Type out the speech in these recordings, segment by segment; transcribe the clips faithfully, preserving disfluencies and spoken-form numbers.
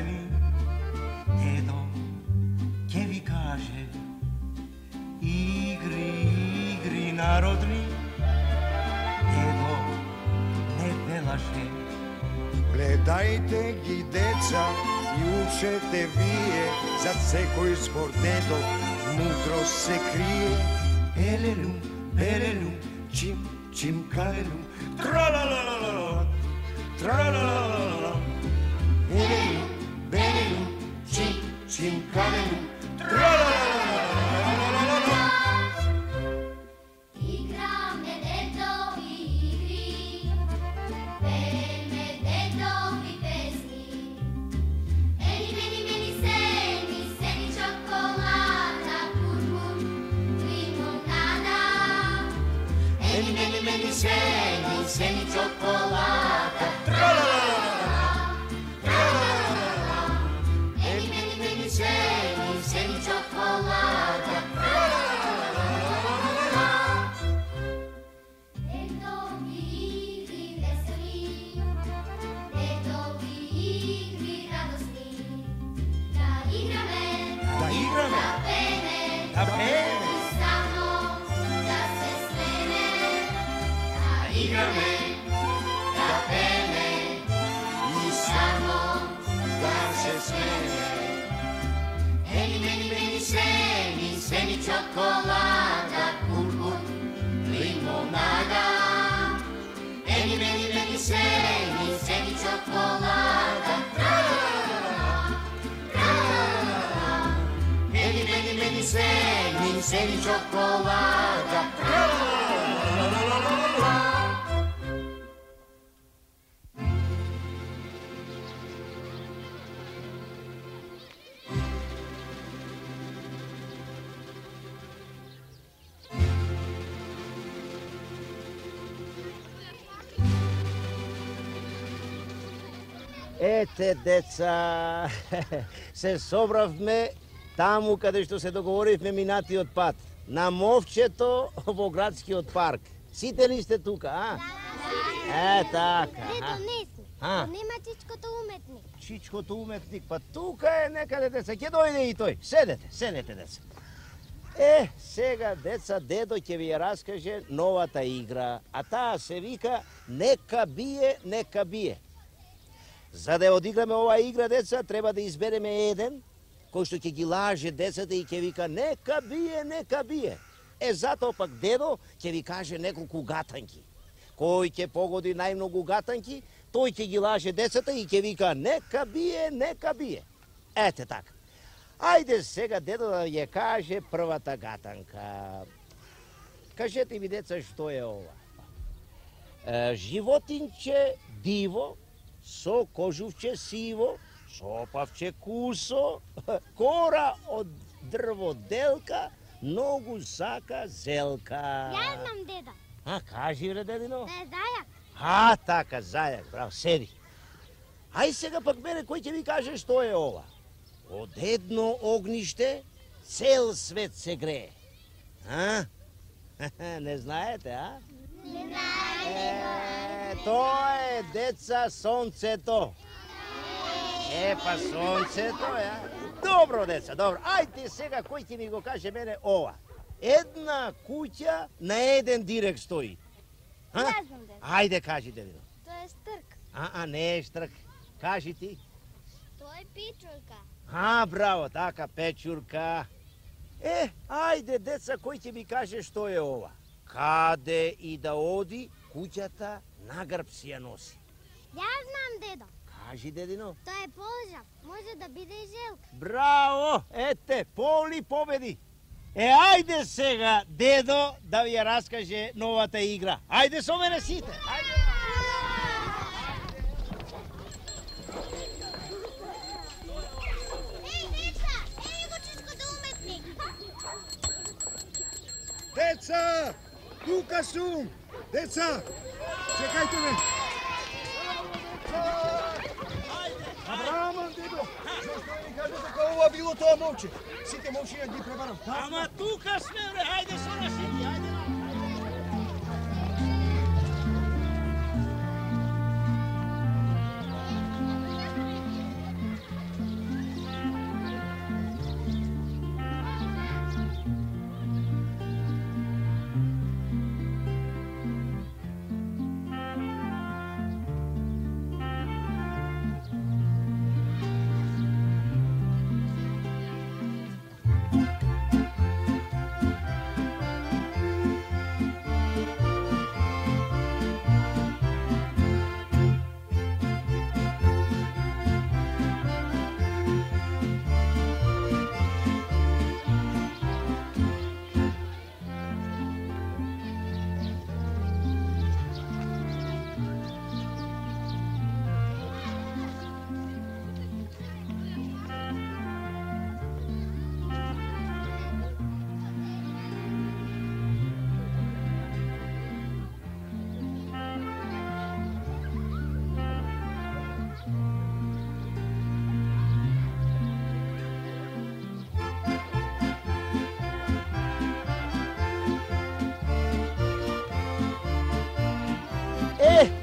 зелени, дедо ќе ви каже игри, игри народни, дедо не белаше. Гледајте ги, деца, и учете вие, за секој збор дедо мудро се крие. Елелу, белелу, Чим, чим, калелу, тралалалала, тралалалала. елелу, белелу, чим, чим, калелу, Играме дедови игри, пееме дедови песни. Ени, мени, мени, сени, сени чоколада, куркум, лимонада. Ени, мени, мени, сени, сени чоколада, Eni, meni, meni, seni, seni cioccolata. Dedovi igri veseli, dedovi igri radosni. Da igrame, Da igrame, da pene, da pene. I sa mnom da se smene. Da igrame, da pene, I sa mnom da se smene. Eni, meni, meni, seni, seni cioccolata, curcum, limonada. Eni, meni, meni, seni, seni cioccolata, tra-la-la-la-la, tra-la-la-la-la. Eni, meni, meni, seni, seni cioccolata, tra-la-la-la-la-la-la-la. Ете, деца, се собравме таму каде што се договоривме минатиот пат, на мовчето во градскиот парк. Сите ли сте тука, а? Е, така. Дедо, не сме. А? Нема чичкото уметник. Чичкото уметник, па тука е некаде, деца, ќе дојде и тој. Седете, седете, деца. Е, сега, деца, дедо ќе ви ја раскаже новата игра, а таа се вика Нека бие, нека бие. За да ја одиграме оваа игра, деца, треба да избереме еден кој што ќе ги лаже децата и ќе вика нека бие, нека бие. Е, затоа пак дедо ќе ви каже неколку гатанки. Кој ќе погоди најмногу гатанки, тој ќе ги лаже децата и ќе вика нека бие, нека бие. Ете така. Ајде сега дедо да ја каже првата гатанка. Кажете ми, деца, што е ова? Е, животинче диво, со кожувче сиво, шопавче кусо, кора од дрво делка, ногу сака зелка. Ја знам, деда. А, кажи, бре, дедино. Да е зајак. А, така, зајак, браво, седи. Ај сега пак мене, кој ќе ви каже што е ова? Од едно огниште цел свет се грее. А? Не знаете, а? Не знаем. Е, тоа е, деца, сонцето. Е, па сонцето, е. Добро, деца, добро. Ајде сега, кој ќе ми го каже мене ова? Една куќа на еден дирек стои. А? Ја знам, деда. Ајде, кажи, дедино. Тоа е стрк. А, а, не е штрк. Кажи ти. Тоа е пичурка. А, браво, така, печурка. Е, ајде, деца, кој ќе ми каже што е ова? Каде и да оди, куќата на грб си ја носи. Ја знам, дедо. Кажи, дедино. Тоа е полжав. Може да биде и желка. Браво, ете, Поли победи. Е, ајде сега, дедо, да ви ја раскаже новата игра. Ајде со мене сите. Ајде. Еј, деца, еј го чичкото уметник. Деца, тука сум. Деца, чекајте ме. Абраман, дедо, зашто ми кажа дека ова било тоа момче? Сите момчиња ги пребарам. Ама тука сме, бре, ајде со нас сите, ајде.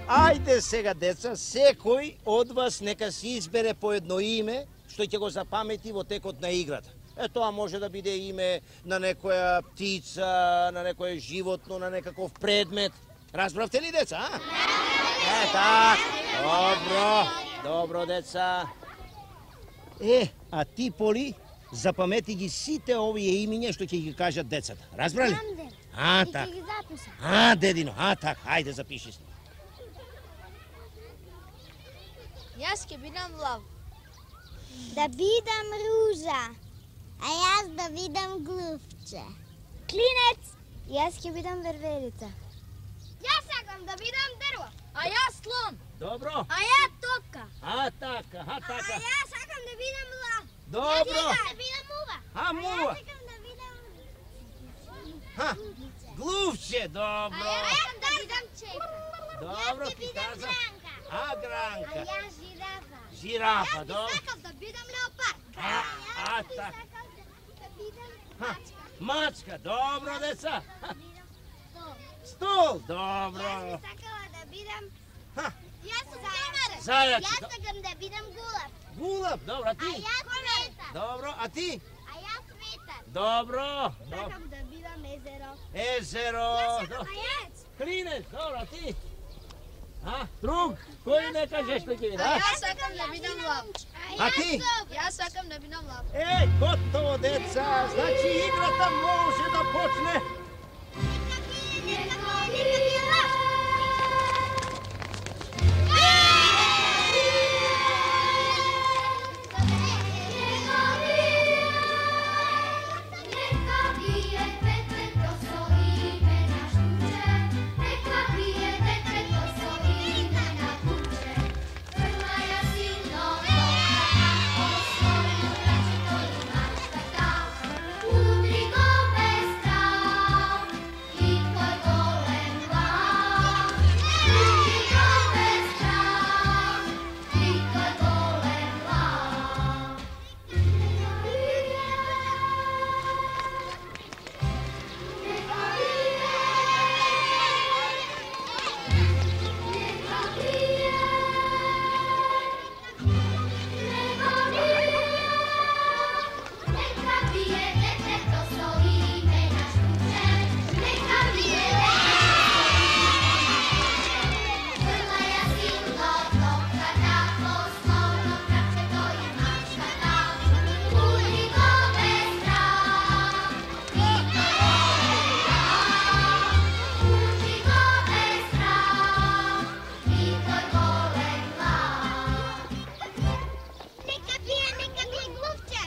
Ајде сега, деца, секој од вас нека си избере по едно име што ќе го запамети во текот на играта. Е, тоа може да биде име на некоја птица, на некое животно, на некаков предмет. Разбравте ли, деца, а? Е, так. Добро, добро, деца. Е, а ти, Поли, запамети ги сите овие имиња што ќе ги кажат децата. Разбрали? Знам, дед. А, И так. ќе ги запишам. А, дедино, а, так, ајде запиши се. Јас ќе бидам лав. Да бидам ружа. А јас да бидам глувче. Клинец. Јас ќе бидам верверица. Јас сакам да бидам дрво. А јас слон. Добро. А ја топка. А, така, а, така. јас сакам да бидам лав. Добро. да бидам мува. А, мува. сакам да бидам Ха, глувче, добро. сакам да бидам чека. Добро ти каза. А, гранка. јас жирафа. Жирафа, добро. сакам да бидам леопард. А, а, так. сакам да бидам Ха, мачка, добро, деца. Ха, стол. стол, добро. Јас би сакала да бидам... Ха, Јас сум зајац. зајац. Јас сакам да бидам гулав. Гулаб, добро, а А ти? јас ветар. Добро, а ти? А јас ветар. Добро. Добро. Сакам да бидам езеро. Езеро. А јас? Клинец, добро, а ти? А, друг, кој не кажеш што ќе види, А а? јас сакам да бидам лав. А ти? Јас сакам да бидам лав. Е, готово, деца, значи играта може да почне. Нека бие, нека бие лав. Neka bije tetek to so ime na štuče, neka bije tetek to so ime na kuće. Vrla ja silno dobra, osnovu braće to ima štata. Udri go bez trav, i tvoj golem glav. Udri go bez trav, i tvoj golem glav. Neka bije detek to so ime na štuče, neka bije vrla ja silno topka tako osnovno kraće to je mačkata. Udri go bez trav, i to golem glav. Udri go bez trav, i to golem glav. Neka bije, neka bije gluvče.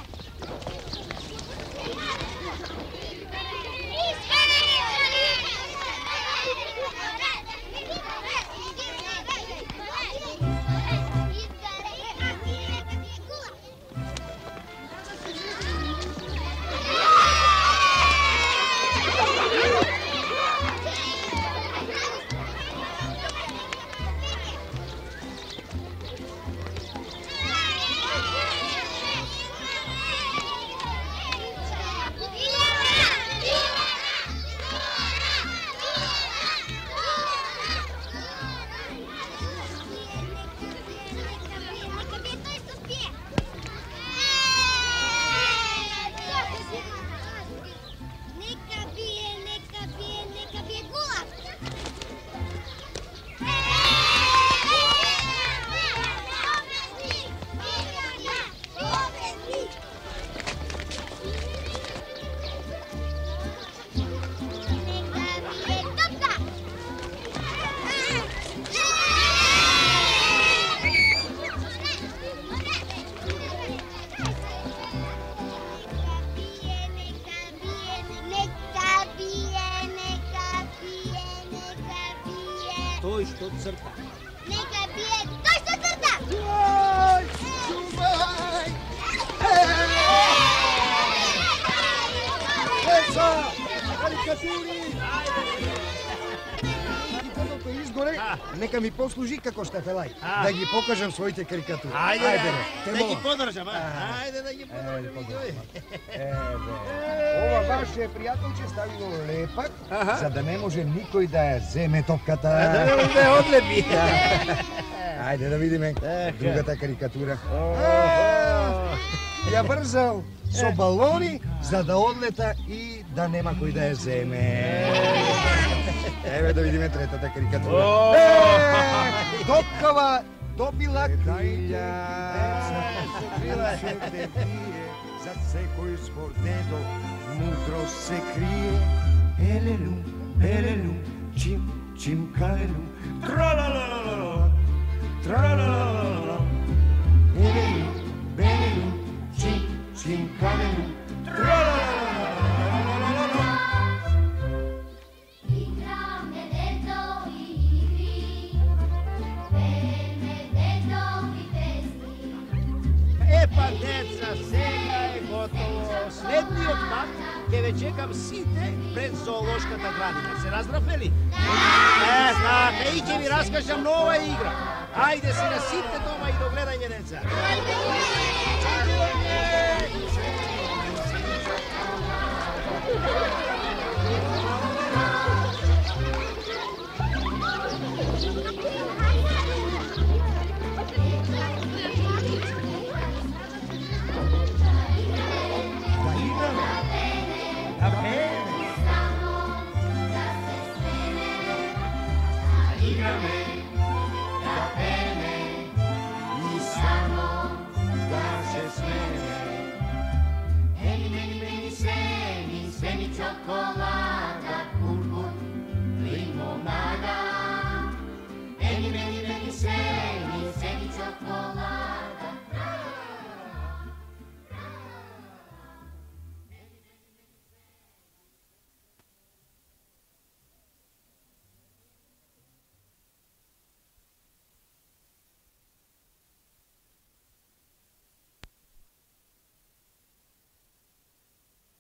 Neka bije, neka bije, neka bije gulav. Neka bije topka. Neka bije, neka bije, neka bije. Тој што црта. Neka bije, тој што црта. Јај, чувај! Деца, карикатури! Карикатурите изгоре, Нека ми послужи како штафелај, А. да ги покажам своите карикатури. Ајде, бе, ајде, те да ги молам. подржам, а? Ајде да ги подржам. подржам. Ова ваше пријателче ставило лепак, Аха. за да не може никој да ја земе топката. Да не може да ја одлепи. Ајде да видиме Така. другата карикатура. Охо. Ја брзал со балони за да одлета и да нема кој да ја земе. Еве да видиме третата карикатура. О. Е, Топкава добила крилја. За секој збор дедо мудро се крие. Елелу, елелу, чим, чим, калелу. Тра-ла-ла-ла-ла-ла. Тра-ла-ла-ла-ла-ла. Елелу, белелу, чим, чим, калелу. Тра-ла-ла-ла-ла-ла-ла-ла. Igrame dedovi igri, peme dedovi pesmi. Епа, деца, сега е готово. Следниот пат ќе ве чекам сите пред зоолошката градина. Се разбравме ли? Е, знаете, и ќе ви раскажам нова игра. Ајде сега сите дома и догледање, деца. Ajde,